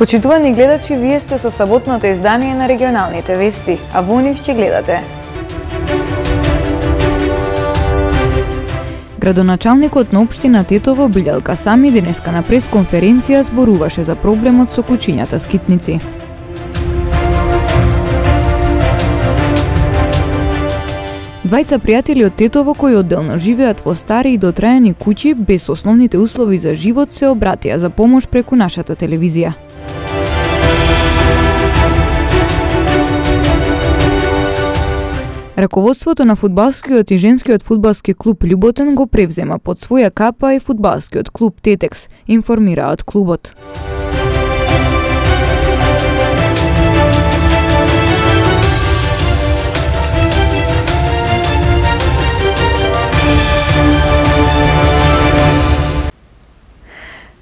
Почитувани гледачи, вие сте со саботното издание на регионалните вести, а во нив ќе гледате. Градоначалникот на општина Тетово Билјалка Сами денеска на пресконференција зборуваше за проблемот со кучињата скитници. Двајца пријатели од Тетово кои одделно живеат во стари и дотраени куќи без основните услови за живот се обратија за помош преку нашата телевизија. Раководството на фудбалскиот и женскиот фудбалски клуб Љуботен го превзема под своја капа и фудбалскиот клуб Тетекс, информираат клубот.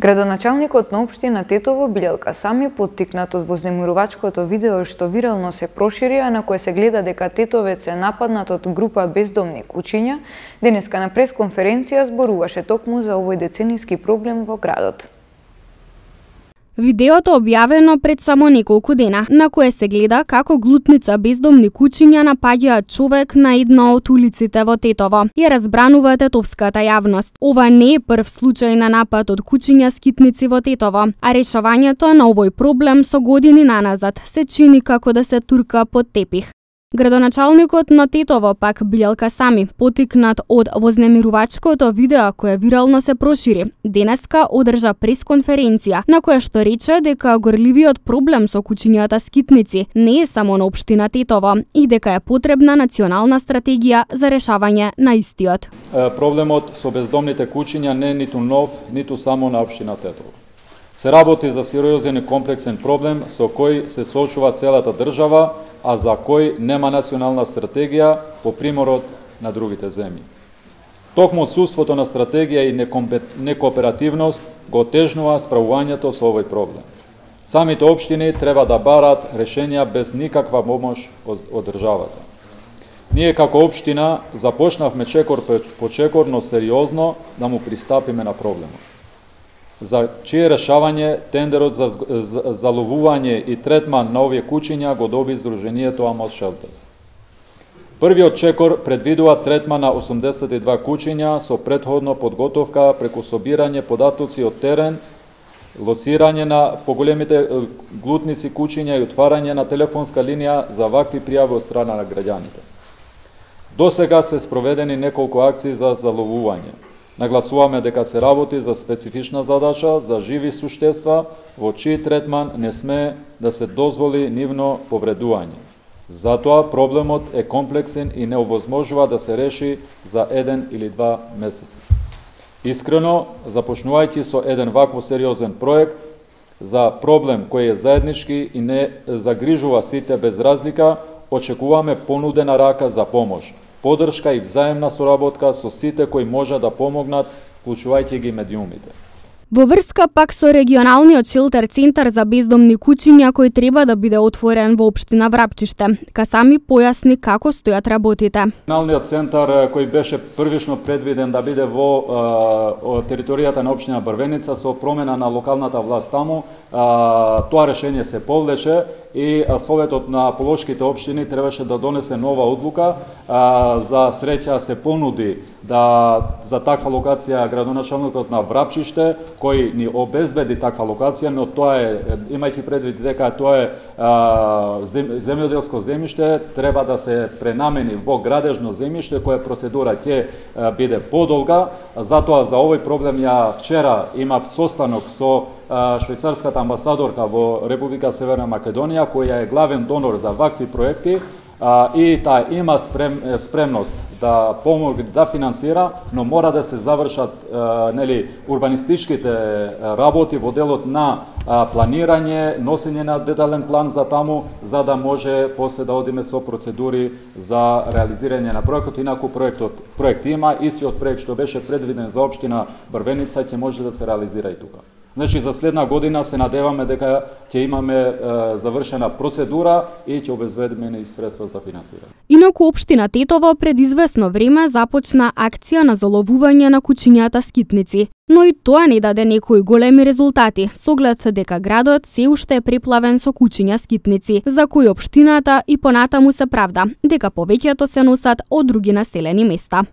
Градоначалникот на општина Тетово Билјалка Сами, поттикнат од вознемирувачкото видео што вирално се прошири, а на кое се гледа дека тетовец е нападнат од група бездомни кучиња, денеска на пресконференција зборуваше токму за овој деценијски проблем во градот. Видеото објавено пред само неколку дена, на кое се гледа како глутница бездомни кучиња напаѓаат човек на една од улиците во Тетово. Ја разбранува тетовската јавност. Ова не е прв случај на напад од кучиња скитници во Тетово, а решавањето на овој проблем со години наназад се чини како да се турка под тепих. Градоначалникот на Тетово пак Билјалка Сами, поттикнат од вознемирувачкото видео кое вирално се прошири, денеска одржа пресконференција на која што рече дека горливиот проблем со кучињата скитници не е само на општина Тетово и дека е потребна национална стратегија за решавање на истиот. Проблемот со бездомните кучиња не е ниту нов, ниту само на општина Тетово. Се работи за сериозен и комплексен проблем со кој се соочува целата држава, а за кој нема национална стратегија по примерот на другите земји. Токму отсуството на стратегија и некооперативност го отежнува справувањето со овој проблем. Самите општини треба да барат решенја без никаква помош од државата. Ние како општина започнавме чекор по чекор, но сериозно да му пристапиме на проблемот. За чие решавање тендерот за ловување и третман на овие кучиња го доби Сдруженијето Амос Шелтер. Првиот чекор предвидува третман на 82 кучиња со претходно подготовка преку собирање податоци од терен, лоцирање на поголемите глутници кучиња и отварање на телефонска линија за вакви пријави од страна на граѓаните. До сега се спроведени неколку акции за заловување. Нагласуваме дека се работи за специфична задача за живи суштества во чиј третман не сме да се дозволи нивно повредување. Затоа проблемот е комплексен и не овозможува да се реши за 1 или 2 месеци. Искрено, започнувајќи со еден вакво сериозен проект за проблем кој е заеднички и не загрижува сите без разлика, очекуваме понудена рака за помош, поддршка и взаемна соработка со сите кои може да помогнат, вклучувајќи ги медиумите. Во врска пак со регионалниот шелтер центар за бездомни кучиња кој треба да биде отворен во општина Врапчиште, Сами појасни како стојат работите. Регионалниот центар кој беше првично предвиден да биде во територијата на општина Брвеница со промена на локалната власт таму, тоа решение се повлече и Советот на полошките општини требаше да донесе нова одлука. За среќа се понуди за таква локација градоначалникот на Врапчиште, кој ни обезбеди таква локација, но тоа е, имајќи предвид дека тоа е земјоделско земјиште, треба да се пренамени во градежно земјиште, која процедура ќе биде подолга. Затоа за овој проблем ја вчера имав состанок со швајцарската амбасадорка во Република Северна Македонија, која е главен донор за вакви проекти, и таа има спремност да помогне да финансира, но мора да се завршат урбанистичките работи во делот на планирање, носење на детален план за таму, за да може после да одиме со процедури за реализирање на проектот. Инаку проект има, истиот проект што беше предвиден за општина Брвеница ќе може да се реализира и тука. Значи, за следна година се надеваме дека ќе имаме завршена процедура и ќе обезбедиме и средства за финансирање. Инаку општина Тетово пред известно време започна акција на заловување на кучињата скитници, но и тоа не даде некои големи резултати, со оглед дека градот се уште е преплавен со кучиња скитници, за кои општината и понатаму се правда дека повеќето се носат од други населени места.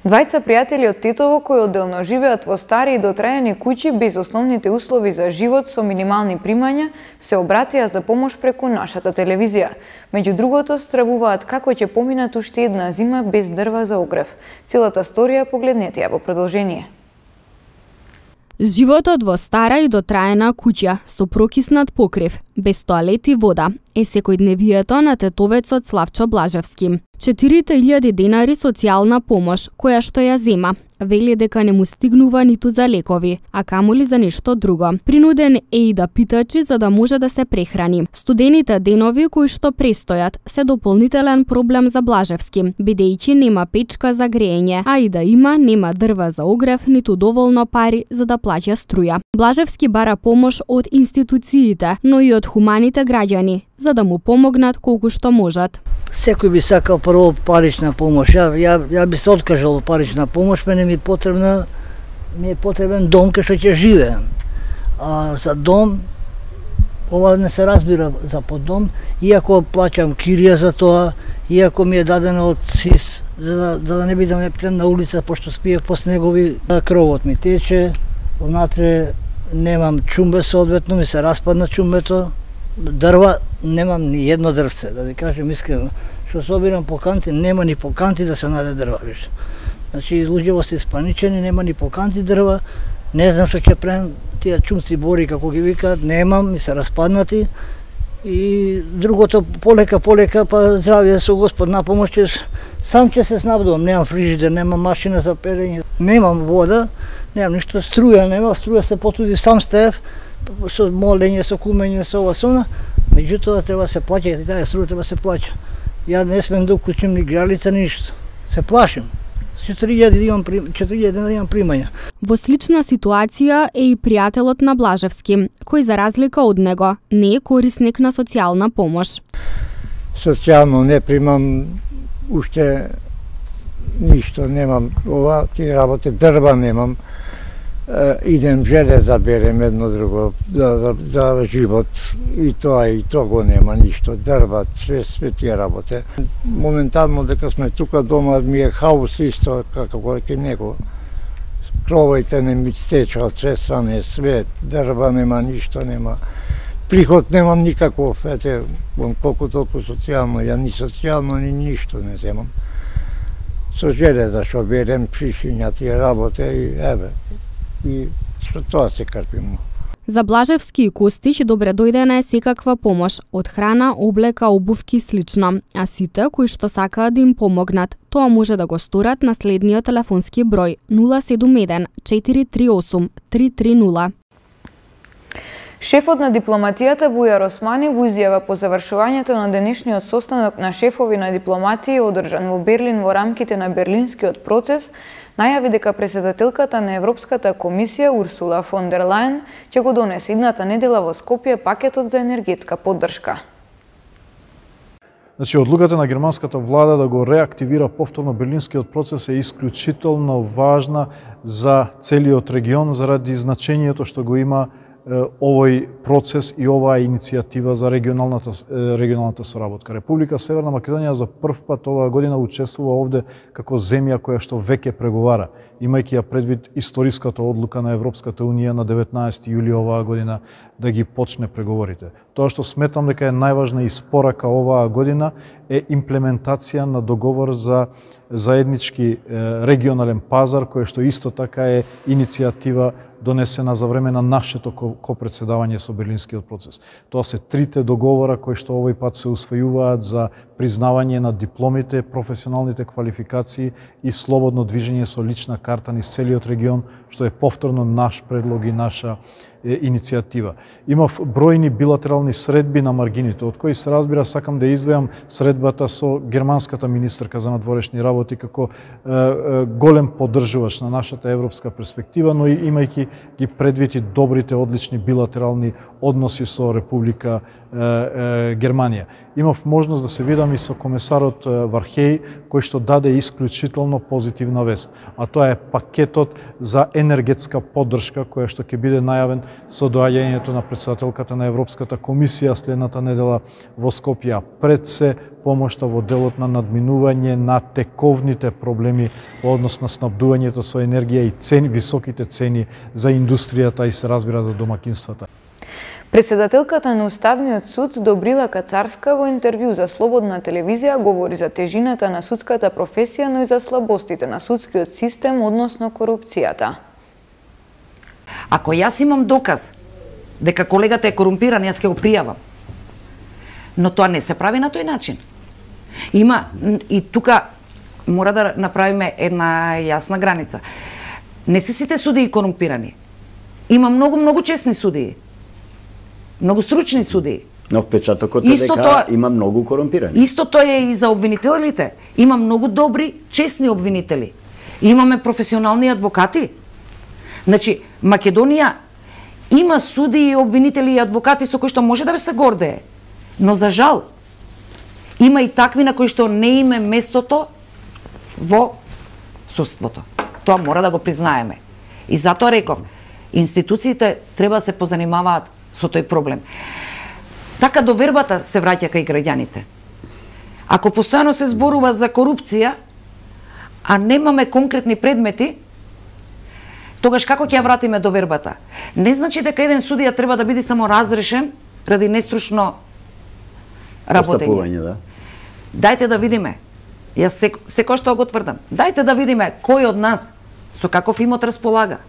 Двајца пријатели од Тетово кои одделно живеат во стари и дотрајани куќи без основните услови за живот со минимални примања се обратија за помош преку нашата телевизија. Меѓу другото, стравуваат како ќе поминат уште една зима без дрва за огрев. Целата сторија погледнете ја во продолжение. Животот во стара и дотраена куќа со прокиснат покрив, без тоалет и вода, е секојдневието на тетовецот Славчо Блажевски. 4000 денари социјална помош, која што ја зема, вели дека не му стигнува ниту за лекови, а камоли за нешто друго. Принуден е и да питачи за да може да се прехрани. Студените денови кои што престојат се дополнителен проблем за Блажевски, бидејќи нема печка за греење, а и да има, нема дрва за огрев, ниту доволно пари за да плаќа струја. Блажевски бара помош од институциите, но и од хуманите граѓани, за да му помогнат колку што можат. Секој би сакал прво парична помош. Ја би се откажал парична помош, ми е потребен дом кај што ќе живеем. А за дом, ова не се разбира за поддом, иако плаќам кирија за тоа, иако ми е дадено од СИС, за да не бидам нептен на улица, пошто спиев по снегови, кровот ми тече, внатре немам чумбе соодветно, ми се распадна чумбето, дрва, немам ни едно дрвце, да ви кажем искрено. Што собирам по канти, нема ни по канти да се наде дрва више. Значи, луѓето се испаничени, нема ни по канти дрва, не знам што ќе правам, тие чумци бори, како ги викаат, немам, ми се распаднати. И другото, полека, па здравје со Господ на помош, сам ќе се снабдувам, немам фрижидер, немам машина за перење, немам вода, немам ништо, струја нема, струја се потуди сам стеев, со молење, со кумење, со ова, со она, меѓутоа треба се плаќа, и таа струја треба се плаќа. Ја не смем да уклучим ни гралица, ништо. Се плашим. 4000 имам примања. Во слична ситуација е и пријателот на Блажевски, кој за разлика од него не е корисник на социјална помош. Социјално не примам уште ништо, немам ова, ти работи, дрва немам. Идем железа берем едно друго за живот и тоа го нема ништо, дрва, све тие работи. Моментално дека сме тука дома ми е хаос исто како кај него. Кровите не ми стеча од све стране, све, дрва нема, ништо нема. Приход немам никаков, ете, колку толку социјално, ја ни социјално ни ништо не земам. Со железа што берем, пришиња тие работи и еве. И што тоа се карпимо. За Блажевски и Костич добре дојдена е секаква помош, од храна, облека, обувки и слично, а сите кои што сакаат да им помогнат, тоа може да го сторат на следниот телефонски број 071 438 330. Шефот на дипломатијата Бујар Османи во изјава по завршувањето на денешниот состанок на шефови на дипломатии одржан во Берлин во рамките на Берлинскиот процес, најави дека претседателката на Европската комисија Урсула фон дер Лајен ќе го донесе идната недела во Скопје пакетот за енергетска поддршка. Значи, одлуката на германската влада да го реактивира повторно Берлинскиот процес е исклучително важна за целиот регион заради значењето што го има овој процес и оваа иницијатива за регионалната соработка. Република Северна Македонија за прв пат оваа година учествува овде како земја која што веќе преговара, имајќи ја предвид историската одлука на Европската Унија на 19 јули оваа година да ги почне преговорите. Тоа што сметам дека е најважна испорака оваа година е имплементација на договор за заеднички регионален пазар, кој што исто така е иницијатива донесена за време на нашето копредседавање со Берлинскиот процес. Тоа се трите договора кои што овој пат се усвојуваат за признавање на дипломите, професионалните квалификации и слободно движење со лична карта низ целиот регион, што е повторно наш предлог и наша иницијатива. Имав бројни билатерални средби на маргините, од кои се разбира сакам да извеам средбата со германската министерка за надворешни работи како голем поддржувач на нашата европска перспектива, но и имајќи ги предвид и добрите, одлични билатерални односи со Република Германија. Имав можност да се видам и со комесарот Вархеј, кој што даде исклучително позитивна вест, а тоа е пакетот за енергетска поддршка која што ќе биде најавен со доаѓањето на претседателката на Европската комисија следната недела во Скопје. Пред се помошта во делот на надминување на тековните проблеми во однос на снабдувањето со енергија и цени, високите цени за индустријата и се разбира за домакинствата. Председателката на Уставниот суд Добрила Кацарска во интервју за Слободна телевизија говори за тежината на судската професија, но и за слабостите на судскиот систем односно корупцијата. Ако јас имам доказ дека колегата е корумпиран, јас ќе го пријавам. Но тоа не се прави на тој начин. Има и тука мора да направиме една јасна граница. Не се сите судии корумпирани. Има многу честни судии. Многу стручни судии. Но впечатокот е дека има многу корумпирани. Истото е и за обвинителите. Има многу добри, честни обвинители. Имаме професионални адвокати. Значи, Македонија има судии, обвинители и адвокати со кои што може да се гордее. Но за жал, има и такви на кои што не име местото во судството. Тоа мора да го признаеме. И затоа реков, институциите треба да се позанимаваат со тој проблем. Така довербата се враќа кај граѓаните. Ако постојано се зборува за корупција, а немаме конкретни предмети, тогаш како ќе ја вратиме довербата? Не значи дека еден судија треба да биде само разрешен ради нестручно работење. Да. Дајте да видиме. Јас секој што го тврдам. Дајте да видиме кој од нас со каков имот располага.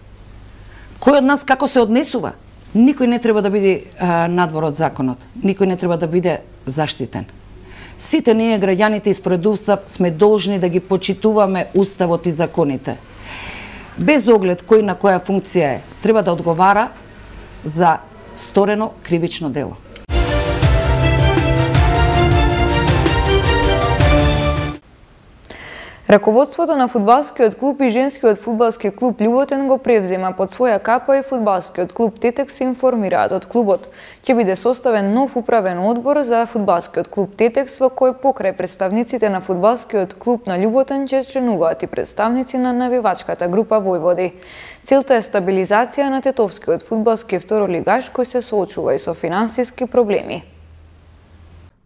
Кој од нас како се однесува. Никој не треба да биде надвор од законот. Никој не треба да биде заштитен. Сите ние граѓаните испред устав сме должни да ги почитуваме уставот и законите. Без оглед кој на која функција е, треба да одговара за сторено кривично дело. Раководството на фудбалскиот клуб и женскиот фудбалски клуб Љуботен го превзема под своја капа и фудбалскиот клуб Тетекс информираат од клубот. Ќе биде составен нов управен одбор за фудбалскиот клуб Тетекс во кој покрај представниците на фудбалскиот клуб на Љуботен ќе членуваат и представници на навивачката група Војводи. Целта е стабилизација на тетовскиот фудбалски второлигаш кој се соочува и со финансиски проблеми.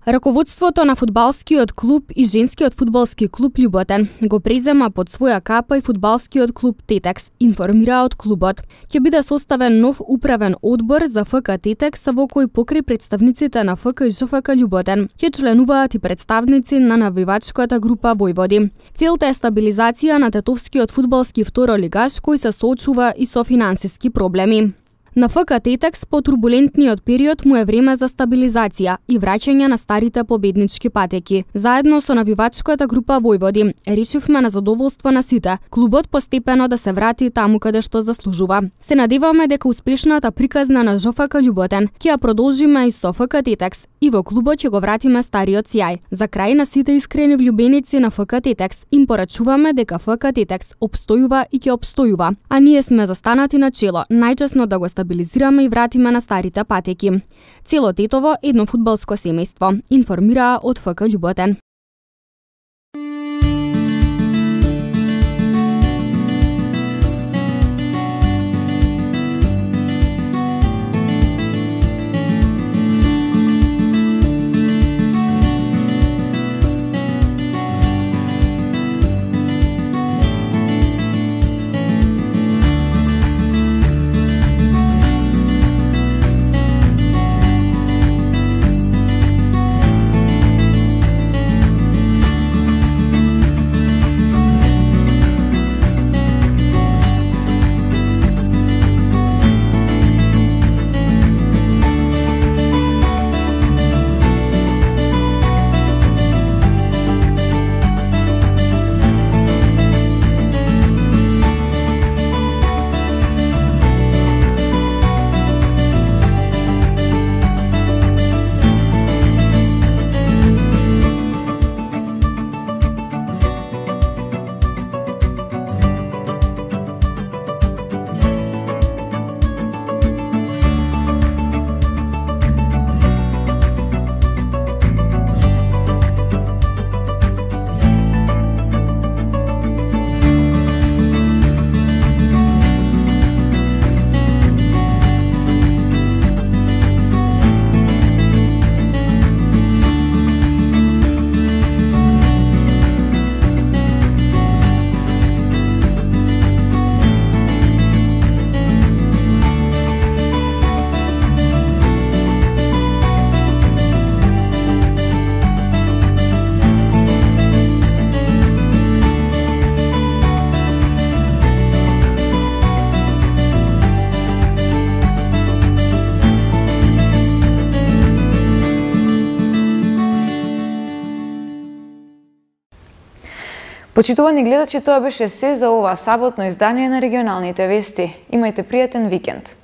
Раководството на фудбалскиот клуб и женскиот фудбалски клуб Љуботен го презема под своја капа и фудбалскиот клуб Тетекс, информира од клубот. Ќе биде составен нов управен одбор за ФК Тетекс во кој покрај представниците на ФК и ЖФК Љуботен ќе членуваат и представници на навивачката група Војводи. Целта е стабилизација на тетовскиот фудбалски второлигаш кој се соочува и со финансиски проблеми. На ФК Тетекс по турбулентниот период му е време за стабилизација и враќање на старите победнички патеки. Заедно со навивачката група Војводи решивме на задоволство на сите клубот постепено да се врати таму каде што заслужува. Се надеваме дека успешната приказна на ЖФК Љуботен ќе ја продолжиме и со ФК Тетекс и во клубот ќе го вратиме стариот сјај. За крај на сите искрени влюбеници на ФК Тетекс им порачуваме дека ФК Тетекс обстојува и ќе обстојува, а ние сме застанати на чело, најчесно да го стабилизираме и вратиме на старите патеки. Цело Тетово едно фудбалско семејство, информираа од ФК Љуботен. Почитувани гледачи, тоа беше се за ова саботно издание на регионалните вести. Имајте пријатен викенд.